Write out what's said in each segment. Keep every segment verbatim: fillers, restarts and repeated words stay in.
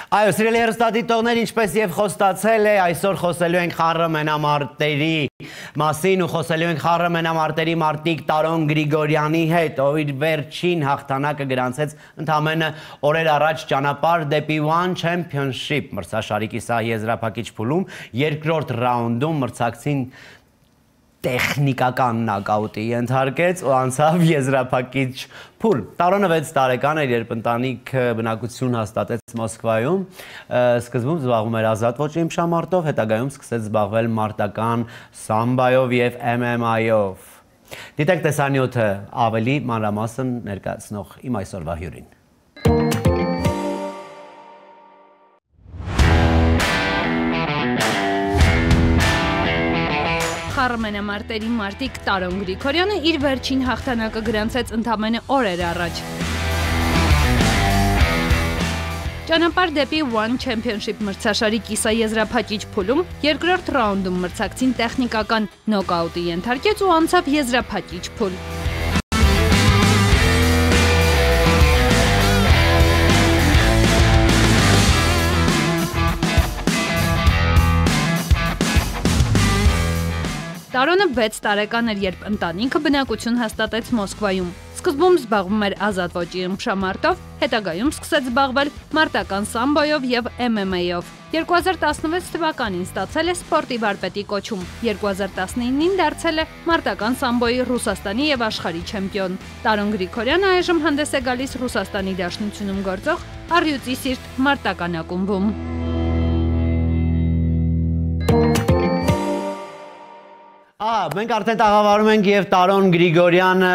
Այո, սիրելի հեռուստադիտողներ, ինչպես եւ խոստացել է, այսօր խոսելու ենք խառը մենամարտերի մասին ու խոսելու ենք խառը մենամարտերի մարտիկ Տարոն Գրիգորյանի հետ, ով իր վերջին հաղթանակը գրանցեց ընդամենը օրեր առաջ ճանապարհ դեպի One Championship մրցաշարի կիսահի եզրափակիչ փուլում երկրորդ ռաունդում մրցակցին տեխնիկական նոկաուտի ենթարկեց ու անցավ եզրափակիչ փուլ։ Տարոնը վեց տարեկան էր, երբ ընտանիք բնակություն հաստատեց Մոսկվայում, սկզբում զբաղվում էր ազատ ոճի իմշամարտով, հետագայում սկսեց զբաղվել մարտական սամբայով եւ M M A-ով։ Դիտեք տեսանյութը ավելի մանրամասն ներկայացնող իմ այսօրվա հյուրին։ Խառը մենամարտերի մարտիկ Տարոն Գրիգորյանը իր վերջին հաղթանակը գրանցեց ընդամենը օրեր առաջ։ Ճանապարհ դեպի One Championship մրցաշարի կիսաեզրափակիչ փուլում երկրորդ ռաունդում մրցակցին տեխնիկական նոկաուտի ենթարկեց ու անցավ եզրափակիչ փուլ։ Տարոնը վեց տարեկան էր, երբ ընտանիքը բնակություն հաստատեց Մոսկվայում։ Սկզբում զբաղվում էր ազատ ոճի իմշամարտով, հետագայում սկսեց զբաղվել մարտական սամբոյով եւ M M A-ով։ երկու հազար տասնվեց թվականին ստացել է սպորտի վարպետի կոչում, երկու հազար տասնինին դարձել է մարտական սամբոյի Ռուսաստանի եւ աշխարհի չեմպիոն։ Տարոն Գրիգորյանը այժմ հանդես է գալիս Ռուսաստանի Դաշնությունում գործող Առյուծի Սիրտ մարտական ակումբում։ Մենք արդեն տաղավարում ենք եւ Տարոն Գրիգորյանը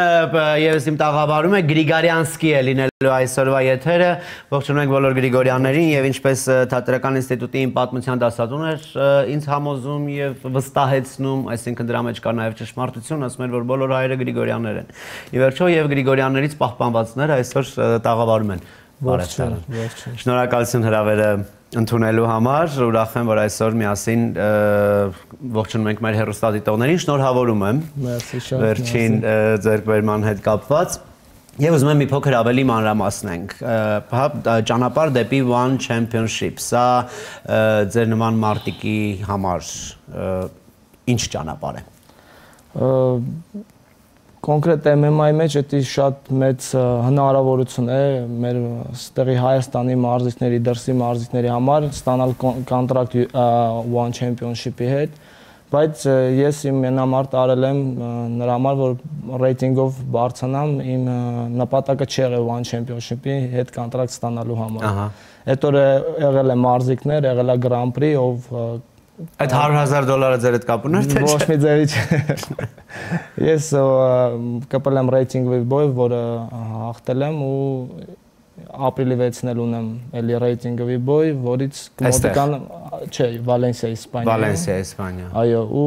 եւս իմ տաղավարում է Գրիգարյանսկի է լինելու այսօրվա եթերը։ Ողջունում ենք բոլոր Գրիգորյաններին եւ ինչպես Թատերական ինստիտուտի իմ պատմության դասատուն էր ինձ համոզում եւ վստահեցնում, այսինքն դրա մեջ կա նաեւ ճշմարտություն, ասում էր որ բոլոր հայերը Գրիգորյաններ են։ Ի վերջո եւ Գրիգորյաններից պահպանվածները այսօր տաղավարում են։ Ողջույն, ողջույն։ Շնորհակալություն հրավերը ընդունելու համար, ուրախ եմ, որ այսօր միասին ողջունում ենք մեր հեռուստադիտողներին, շնորհավորում եմ վերջին ձեռքբերման հետ կապված եւ ուզում եմ մի փոքր ավելի մանրամասնենք։ Ճանապարհ դեպի One Championship, սա ձեր նման մարտիկի համար ինչ ճանապարհ է։ Կոնկրետ M M A-ի մեջ դա շատ մեծ հնարավորություն է մեր ստեղի Հայաստանի մարզիկների, դրսի մարզիկների համար ստանալ կոնտրակտ One Championship-ի հետ, բայց ես իմ մենամարտ արել եմ նրա համար, որ ռեյտինգով բարձրանամ, իմ նպատակը չէ One Championship-ի հետ կոնտրակտ ստանալու համար։ Այդ օրը եղել է մարզիկներ, եղել է Grand Prix, ով Այդ հարյուր հազար դոլարը ձեր հետ կապ ուներ թե չէ։ Ոչ մի ձևի չէ։ Ես կապել եմ ռեյտինգի բոյ, որը հաղթել եմ ու ապրիլի վեցին էլ ունեմ էլի ռեյտինգի բոյ, որից մոտիկան չէ, Վալենսիա, Իսպանիա։ Վալենսիա, Իսպանիա։ Այո, ու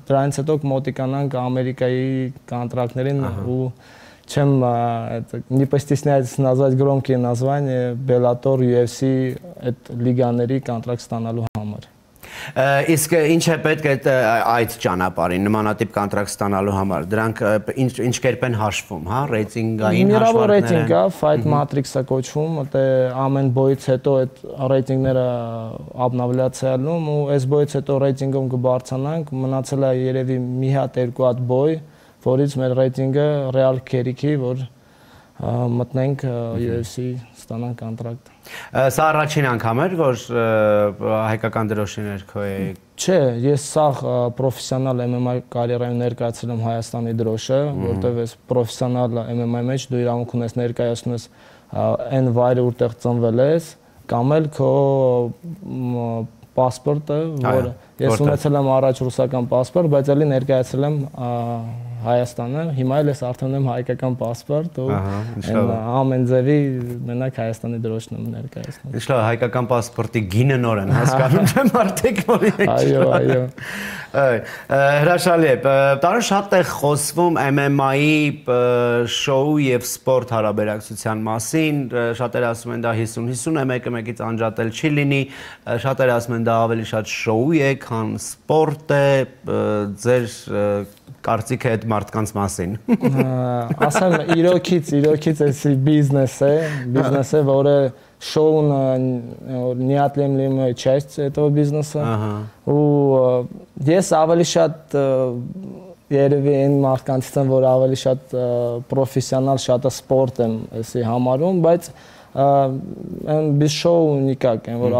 դրանից հետո մոտիկանանք Ամերիկայի կոնտրակտներին ու чем не постесняйтесь назвать громкие названия Bellator, U F C, այդ լիգաների կոնտրակտ ստանալու համար։ Իսկ ինչ է պետք է այդ ճանապարհին նմանատիպ կոնտրակտ ստանալու համար, դրանք ինչ կերպ են հաշվում, հա, ռեյտինգային հաշվարկները։ Միրավոր ռեյտինգ է, Fight Matrix-ը կոչվում, դա ամեն բոյից հետո այդ ռեյտինգները обновляться-ալնում ու այս բոյից հետո ռեյտինգում կբարձրանանք, մնացել է երևի մի հատ երկու հատ բոյ, որից մեր ռեյտինգը ռեալ քերիքի, որ մտնենք U F C ստանանք կոնտրակտ։ Սա առաջին անգամ էր, որ հայկական դրոշի ներքո է։ Չէ, ես սաղ պրոֆեսիոնալ M M A կարիերայում ներկայացրել եմ Հայաստանի դրոշը, որտեղ ես պրոֆեսիոնալ M M A-ի մեջ դու իրավունք ունես ներկայացնում ես այն վայրը, որտեղ ծնվել ես, կամ էլ քո պասպորտը, որը ես ունեցել եմ առաջ ռուսական պասպորտ, բայց ելի ներկայացրել եմ Հայաստանը, հիմա էլ ես արդեն եմ հայկական պասպորտ ու ամեն ձևի մենակ Հայաստանի դրոշն եմ ներկայացնում։ Ինչ լավ, հայկական պասպորտի գինը նոր են հասկանում, թե մարդիկ որի։ Այո, այո։ Հրաշալի է։ Տարոն շատ է խոսվում M M A-ի շոու եւ սպորտ հարաբերակցության մասին, շատերը ասում են դա հիսուն հիսուն է, մեկը մեկից անջատել չի լինի, շատերը ասում են դա ավելի շատ շոու է, քան սպորտ է, ձեր կարծիք է այդ մարդկանց մասին։ Ասեմ, իրոքից, իրոքից էսի բիզնես է, բիզնես է, որը շոուն неотъемлемая часть этого бизнеса։ Ու ես ավելի շատ երևի այն մարդկանցից եմ, որ ավելի շատ պրոֆեսիոնալ, շատ սպորտ եմ էսի համարում, բայց այն բիզ շոու նիկակ են, որ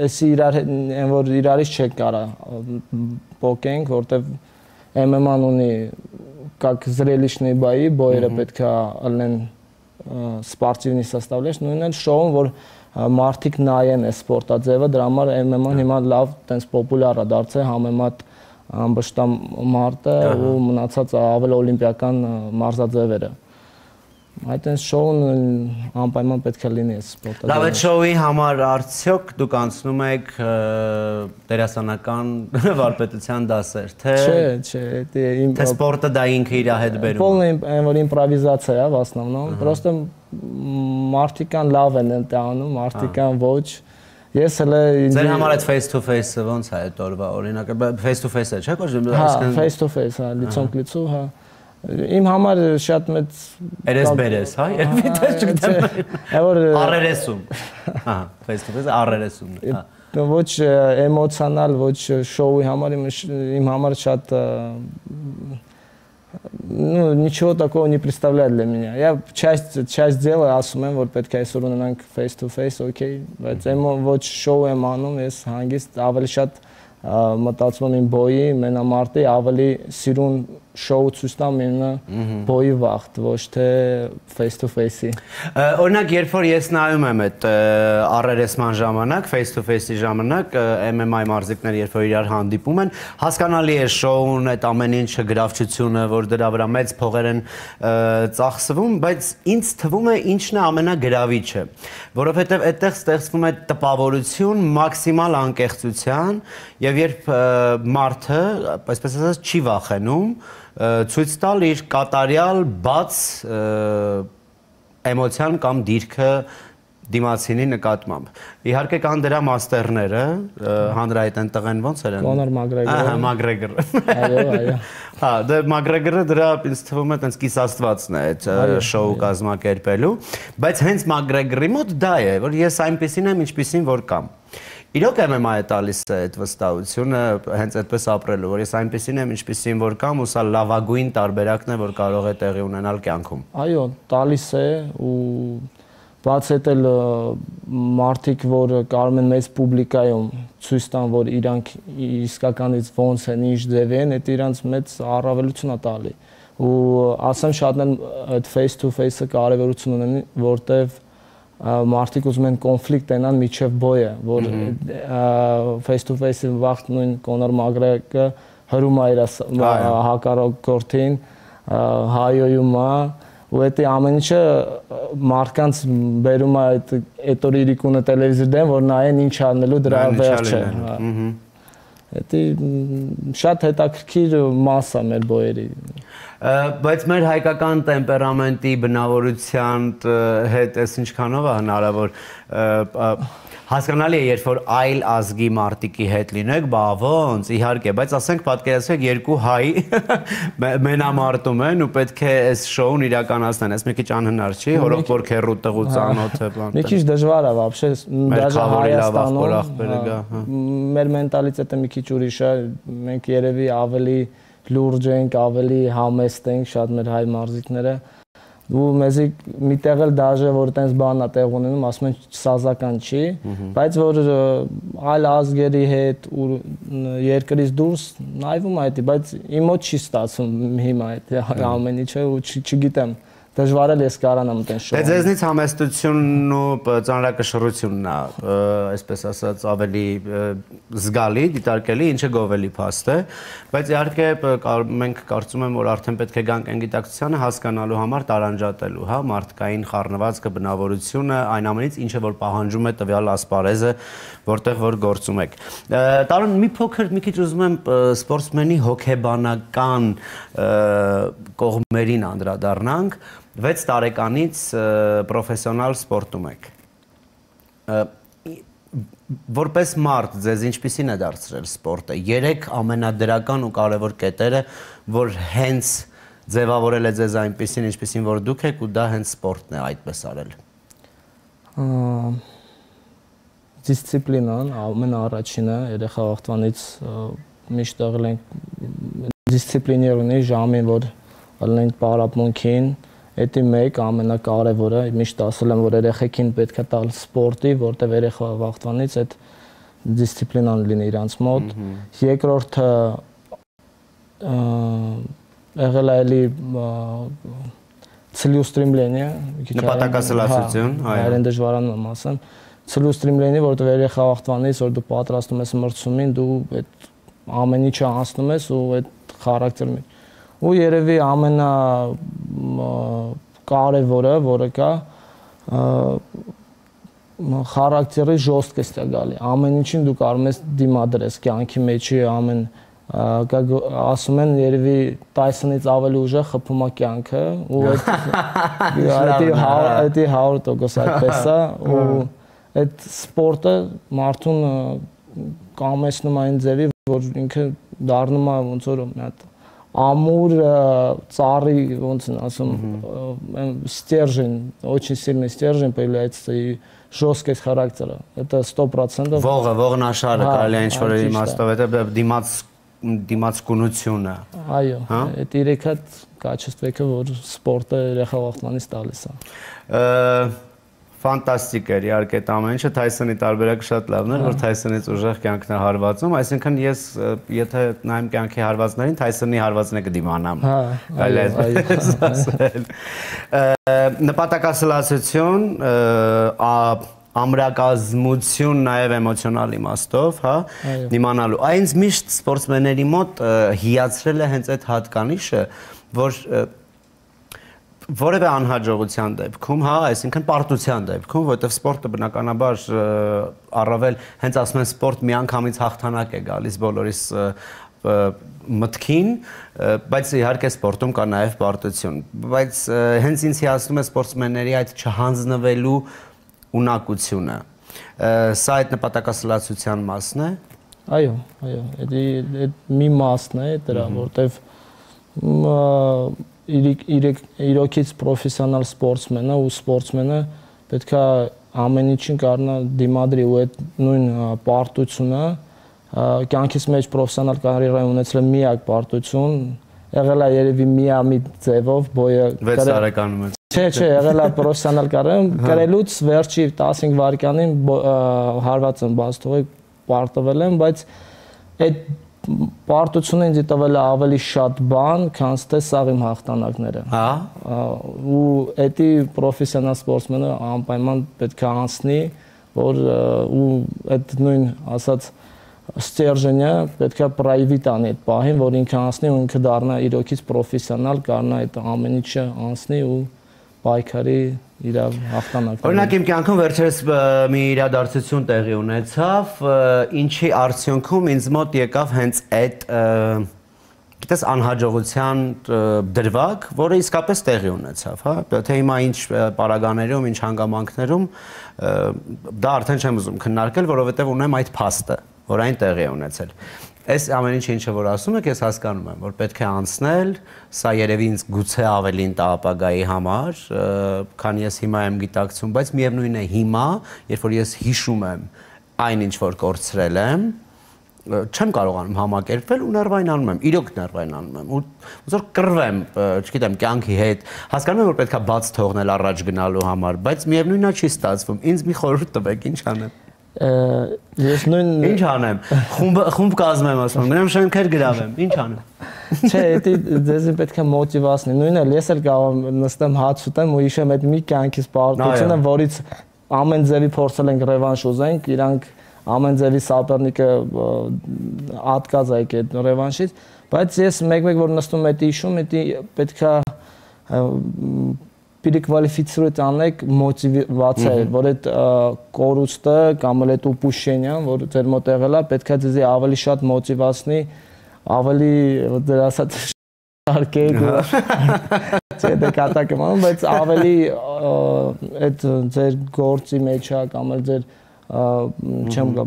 էսի իրար, են որ իրարից չեք կարա պոկենք, որտև эм эм ան ունի как зрелищные бои, բոյերը պետք է ալնեն спортивный составляющий, նույնն էլ շոուն, որ մարդիկ նայեն է սպորտաձևը, դրա համար эм эм ան հիմա լավ տենց պոպուլյար է դարձել համեմատ ամբողջ մարտը ու մնացած ավել օլիմպիական մարզաձևերը։ Այդ այս շոուն անպայման պետք է լինի սպորտը։ Լավ, այդ շոուի համար արդյոք դուք անցնում եք դերասանական վարպետության դասեր, թե Չէ, չէ, թե սպորտը դա ինքը իր հետ բերում։ Полная որ իմպրովիզացիա է, в основном, просто մարդիկան լավ են ընդ անում, մարդիկան ոչ։ Ես հələ Ձեր համար այդ face to face-ը ոնց է այդ օրվա օրինակ face to face-ը, չէ՞ կոչվում։ Հա, face to face, հա, лицом к лицу, հա։ Իմ համար շատ մեծ երես-բերես, հա, երբի դեռ չգտեմ։ Որ առերեսում։ Հա, face to face առերեսումն է, հա։ Ոչ էմոցիոնալ, ոչ շոուի համար իմ համար շատ ну ничего такого не представляет для меня. Я часть часть дела ասում եմ, որ պետք է այսօր ունենանք face to face, okay, բայց եմ ոչ շոու եմ անում, ես հանգիստ ավելի շատ մտածում եմ բոյի, մենամարտի, ավելի սիրուն շոու ցույց տամ ինը բոյի վաղտ, ոչ թե face to face-ի։ Օրինակ, երբ որ ես նայում եմ այդ առերեսման ժամանակ, face to face-ի ժամանակ, эм эм ա մարզիկները երբ որ իրար հանդիպում են, հասկանալի է շոուն, այդ ամեն ինչը, գրավչությունը, որ դրա վրա մեծ փողեր են ծախսվում, բայց ինձ թվում է ինչն է ամենագրավիչը, որովհետև այդտեղ ստեղծվում է տպավորություն մաքսիմալ անկեղծության, եւ երբ մարդը, այսպես ասած, չի վախենում ցույց տալ իր կատարյալ բաց էմոցիան կամ դիրքը դիմացինի նկատմամբ։ Իհարկե կան դրա մաստերները, հանրայիտ են տղեն ոնց էր են։ Կոնոր Մագրեգորը։ Ահա, Մագրեգորը։ Այո, այո։ Հա, դե Մագրեգորը դրա ինձ թվում է տենց կիսաստվածն է այդ շոու կազմակերպելու, բայց հենց Մագրեգորի մոտ դա է, որ ես այնպեսին եմ, ինչպեսին որ կամ։ Իրոք էմ էմ ա-ը տալիս է այդ վստահությունը հենց այդպես ապրելու, որ ես այնպեսին եմ, ինչպեսին որ կամ, ու սա լավագույն տարբերակն է, որ կարող է տեղի ունենալ կյանքում։ Այո, տալիս է ու բաց այդ էլ մարդիկ, որ կարող են մեծ պուբլիկայում ցույց տան, որ իրանք իսկականից ոնց են, ինչ ձև են, այդ իրանց մեծ առավելություն է տալի։ Ու ասեմ շատն են այդ face to face-ը կարևորություն ունեն, որտեվ մարդիկ ուզում են կոնֆլիկտ տենան միջև բոյը, որ face to face-ի վաղտ նույն Կոնոր Մագրեգորը հրում է իր հակառակորդին, հայոյում է, ու այդ ամեն ինչը մարդկանց բերում է այդ օր իրիկունը տելևիզոր դեմ, որ նայեն ինչ անելու դրա վերջը։ Դա շատ հետաքրքիր մաս է մեր բոյերի։ Բայց մեր հայկական տեմպերամենտի բնավորության հետ էս ինչքանով է հնարավոր հասկանալի է, երբ որ այլ ազգի մարտիկի հետ լինեք, բա ոնց, իհարկե, բայց ասենք պատկերացրեք երկու հայ մենամարտում են ու պետք է այս շոուն իրականացնեն, այս մի քիչ անհնար չի, հորող որ քերու տղու ծանոթ է բան։ Մի քիչ դժվար է вообще, даже Հայաստանում մեր մենտալիտետը մի քիչ ուրիշ է, մենք երևի ավելի լուրջ ենք, ավելի համեստ ենք, շատ մեր հայ մարզիկները, ու մեզի միտեղ էլ դաժե, որ տենց բան է տեղ ունենում, ասում են սազական չի, բայց որ այլ ազգերի հետ ու երկրից դուրս նայվում է դա, բայց իմ մոտ չի ստացվում հիմա այդ ամեն ինչը ու չգիտեմ, դժվար է ես կարանամ տեն շոու։ Դե ձեզնից համեստությունն ու ծանրակշռությունն է, այսպես ասած, ավելի զգալի, դիտարկելի, ինչը գովելի փաստ է, բայց իհարկե մենք կարծում եմ, որ արդեն պետք է գանք այն գիտակցությանը հասկանալու համար տարանջատելու, հա, մարդկային խառնվածքը, բնավորությունը, այն ամենից, ինչը որ պահանջում է տվյալ ասպարեզը, որտեղ որ գործում եք։ Տարոն մի փոքր մի քիչ ուզում եմ սպորտսմենի հոգեբանական կողմերին անդրադառնանք։ վեց տարեկանից պրոֆեսիոնալ սպորտում եք։ որպես մարդ ձեզ ինչպիսին է դարձրել սպորտը։ Երեք ամենադրական ու կարևոր կետերը, որ հենց ձևավորել է ձեզ այնպիսին, ինչպիսին որ դուք եք ու դա հենց սպորտն է այդպես արել։ Դիսցիպլինան ամենաառաջինը, երեխա վաղտվանից միշտ եղել ենք դիսցիպլիներ ունի ժամին, որ ելնենք պարապմունքին, Էդի մեկ ամենակարևորը, միշտ ասել եմ, որ երեխեքին պետք է տալ սպորտի, որտեղ երեխա վաղտվանից այդ դիսցիպլինան լինի իրանց մոտ։ Երկրորդը եղել է էլի целеустремление, նպատակասլացություն, այրեն դժվարանում եմ ասեմ, целеустремление, որտեղ երեխա վաղտվանից, որ դու պատրաստում ես մրցումին, դու այդ ամեն ինչը անցնում ես ու այդ խարակտերն ու երևի ամենա կարևորը, որը կա, խարակտերի ժոստկես է գալի, ամեն ինչին դու կարող ես դիմադրես, կյանքի մեջի ամեն, ասում են երևի Տայսոնից ավելի ուժեղ խփում է կյանքը, ու այդ հարյուր տոկոս այդպես է, ու այդ սպորտը մարդուն կամեցնում այն ձևի, որ ինքը դառնում է ոնց որ մի հատ Амур, цари, ոնց են ասում, стержень, очень сильный стержень появляется и жесткость характера. Это сто процентов. Ողը, ողնաշարը կարելի է ինչ-որ իմաստով, это դիմաց դիմացկունությունը։ Այո, այդ երեք հատ կաչествека, որ սպորտը երեխա վաղտվանից տալիս է։ Ֆանտաստիկ էր, իհարկե այդ ամեն ինչը Թայսոնի տարբերակը շատ լավն էր, որ Թայսոնից ուժեղ կյանքն է հարվածում, այսինքն ես եթե նայեմ կյանքի հարվածներին, Թայսոնի հարվածն է կդիմանամ։ Այլ այդպես ասել։ Նպատակասլացություն, ամրակազմություն նաև էմոցիոնալ իմաստով, հա, դիմանալու։ Այնց միշտ սպորտսմենների մոտ հիացրել է հենց այդ հատկանիշը, որ որևէ անհաջողության դեպքում, հա, այսինքն պարտության դեպքում, որովհետև սպորտը բնականաբար առավել հենց ասում են սպորտ միանգամից հաղթանակ է գալիս բոլորիս մտքին, բայց իհարկե սպորտում կա նաև պարտություն, բայց հենց ինձ հիացնում է սպորտսմենների այդ չհանձնվելու ունակությունը։ Սա այդ նպատակասլացության մասն է։ Այո, այո, այդ մի մասն է դրա, որովհետև իրոքից պրոֆեսիոնալ սպորտսմենը ու սպորտսմենը պետք է ամեն ինչին կարողանա դիմադրի ու այդ նույն պարտությունը կյանքից մեջ պրոֆեսիոնալ կարիերա ունեցել միակ պարտություն եղել է երևի միամիտ ձևով բոյը վեց տարեկանում է չէ չէ եղել է պրոֆեսիոնալ կարիերան գրելուց վերջի տասնհինգ վայրկյանին հարված եմ բաց թողեք պարտվել եմ բայց այդ պարտությունը ինձ տվել է ավելի շատ բան, քան թե սաղ իմ հաղթանակները։ Հա։ Ու էդի պրոֆեսիոնալ սպորտսմենը անպայման պետք է անցնի, որ ու այդ նույն ասած ստержենը պետք է պրայվետ անի այդ պահին, որ ինքը անցնի ու ինքը դառնա իրոքից պրոֆեսիոնալ, կարողանա այդ ամեն ինչը անցնի ու պայքարի իր հաղթանակները։ Օրինակ իմ կյանքում վերջերս մի իրադարձություն տեղի ունեցավ, ինչի արդյունքում ինձ մոտ եկավ հենց այդ գիտես անհաջողության դրվագ, որը իսկապես տեղի ունեցավ, հա, թե հիմա ինչ պարագաներում, ինչ հանգամանքներում դա արդեն չեմ ուզում քննարկել, որովհետև ունեմ այդ փաստը, որ այն տեղի է ունեցել։ Այս ամեն ինչը ինչը որ ասում եք, ես հասկանում եմ, որ պետք է անցնել, սա երևի ինձ գուցե ավելին տա ապագայի համար, քան ես հիմա եմ գիտակցում, բայց միևնույն է հիմա, երբ որ ես հիշում եմ այն ինչ որ կորցրել եմ, չեմ կարողանում համակերպվել ու ներվայնանում եմ, իրոք ներվայնանում եմ, ու ոնց որ կռվեմ, չգիտեմ, կյանքի հետ, հասկանում եմ, որ պետք է բաց թողնել առաջ գնալու համար, բայց միևնույնն է չի ստացվում, ինձ մի խորհուրդ տվեք, ինչ անեմ։ Ես նույն Ինչ անեմ, խումբ խումբ կազմեմ ասում, գնամ շենքեր գրավեմ, ինչ անեմ։ Չէ, դա դեզ պետք է մոտիվացնի, նույնը ես էլ կարող եմ նստեմ հաց ուտեմ ու հիշեմ այդ մի կյանքից պարտությունը, որից ամեն ձևի փորձել ենք ռևանշ ուզենք, իրանք ամեն ձևի սապերնիկը ատկած է այդ ռևանշից, բայց ես մեկ-մեկ որ նստում եմ այդ հիշում, դա պետք է переквалифицировать անեք մոտիվացիա, որ այդ կորուստը կամ էլ այդ ուպուշենյան, որ ձեր մոտ եղել է, պետք է ձեզ ավելի շատ մոտիվացնի, ավելի դրա ասած շարքեք, չէ, դե կատակ եմ անում, բայց ավելի այդ ձեր գործի մեջ է կամ էլ ձեր չեմ գա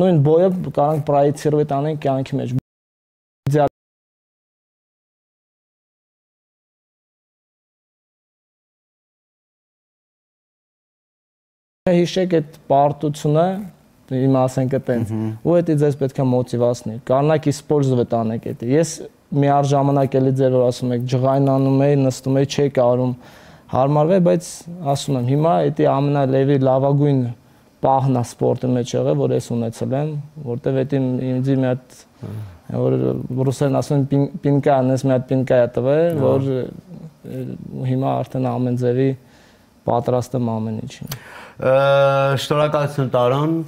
նույն բոյը կարանք պրոյեկցիռվի տանենք կյանքի մեջ հիշեք այդ պարտությունը իմ ասենք այտենց ու դա ձեզ պետք է մոտիվացնի կանակ իսպոլզվետ անեք դա ես միառ ժամանակ էլի ձեր որ ասում եք ջղայնանում էի նստում էի չէի կարում հարմարվել բայց ասում եմ հիմա դա ամենալեւի լավագույն պահն է սպորտի մեջ եղել որ ես ունեցել եմ որտեվ դա ինձ մի հատ որ ռուսերեն ասում են պինկա անես մի հատ պինկա է տվել որ հիմա արդեն ամեն ձևի պատրաստ եմ ամեն ինչին Շնորհակալություն Տարոն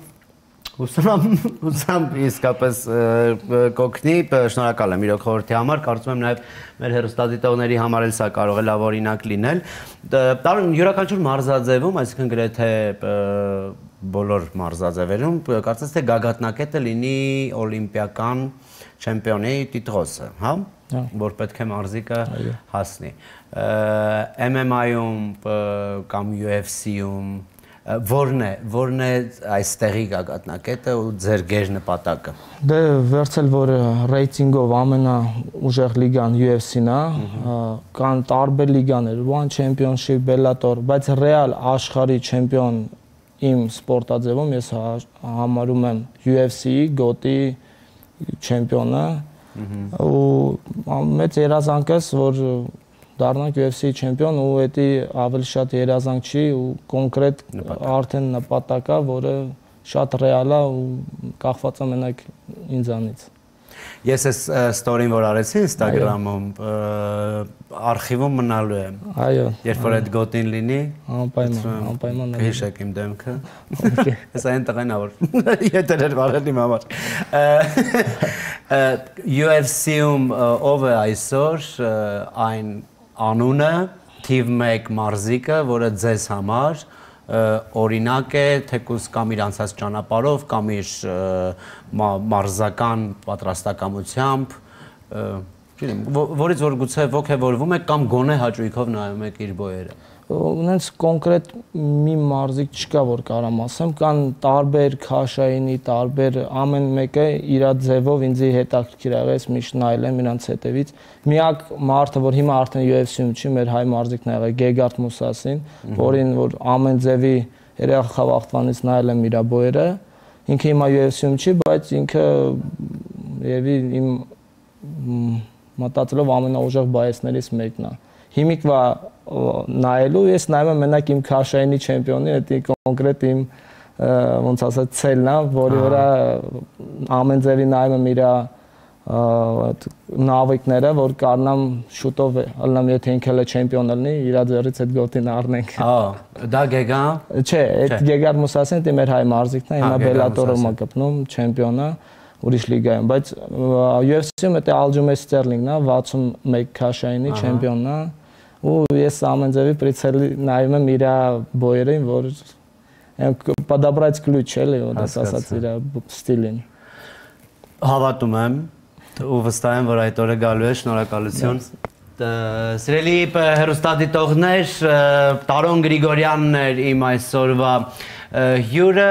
Ուսամ ուսամ իսկապես կօգնի շնորհակալ եմ իրոք խորհրդի համար կարծում եմ նաև մեր հեռուստադիտողների համար էլ սա կարող է լավ օրինակ լինել Տարոն յուրաքանչյուր մարզաձևում այսինքն գրեթե բոլոր մարզաձևերում կարծես թե գագաթնակետը լինի օլիմպիական չեմպիոնի տիտղոսը հա որ պետք է մարզիկը հասնի M M A-ում կամ U F C-ում Որն է, որն է այստեղի գագաթնակետը ու ձեր գերնպատակը։ Դե վերցել որ ռեյտինգով ամենաուժեղ լիգան U F C-ն է, կան տարբեր լիգաներ, One Championship, Bellator, բայց ռեալ աշխարհի չեմպիոն իմ սպորտաձևում ես համարում եմ U F C-ի գոտի չեմպիոնը ու մեծ երազանքս որ դառնանք U F C չեմպիոն ու դա ավելի շատ երազանք չի ու կոնկրետ արդեն նպատակ է, որը շատ ռեալ է ու կախված է մենակ ինձանից։ Ես այս ստորին որ արեցի Instagram-ում արխիվում մնալու եմ։ Այո։ Երբ որ այդ գոտին լինի, անպայման, անպայման հիշեք իմ դեմքը։ Հեսա այն տղեն ա որ ետերեր վարել իմ համար։ U F C-ում ով է այսօր այն անունը թիվ մեկ մարզիկը, որը ձեզ համար օրինակ է թեկուզ կամ իր անցած ճանապարհով կամ իր մարզական պատրաստակամությամբ, չգիտեմ, որից որ գուցե ոգևորվում եք կամ գոնե հաճույքով նայում եք իր բոյերը։ Ունենց կոնկրետ մի մարզիկ չկա որ կարամ ասեմ, կան տարբեր քաշայինի, տարբեր ամեն մեկը իր ձևով ինձի հետաքրքիր եղեց, միշտ նայել եմ իրանց հետևից։ Միակ մարդը, որ հիմա արդեն U F C-ում չի, մեր հայ մարզիկն ա եղել Գեգարդ Մուսասին, որին որ ամեն ձևի երախ խաղաղտվանից նայել եմ իր բոյերը, ինքը հիմա U F C-ում չի, բայց ինքը եւի իմ մտածելով ամենաուժեղ բայեսներից մեկն է։ Հիմիկվա նայելու ես նայում եմ մենակ իմ քաշայինի չեմպիոնի, դա կոնկրետ իմ ոնց ասած ցելն է, որի վրա ամեն ձևի նայում եմ իր նավիկները, որ կարնամ շուտով ալնամ եթե ինքը էլ չեմպիոն լինի, իր ձեռից այդ գոտին առնենք։ Ահա, դա Գեգա։ Չէ, այդ Գեգարդ Մուսասին դա մեր հայ մարզիկն է, հիմա Bellator-ում է գտնում, չեմպիոն է, ուրիշ լիգայում, բայց U F C-ում դա Aljamain Sterling-ն է, վաթսունմեկ քաշայինի չեմպիոնն է։ ու ես ամեն ձևի прицելի նայում եմ իր բոյերին, որ подобрать ключ էլի, որ ասած իր ստիլին։ Հավատում եմ ու վստահ եմ, որ այդ օրը գալու է, շնորհակալություն։ Սիրելի հեռուստադիտողներ, Տարոն Գրիգորյանն էր իմ այսօրվա հյուրը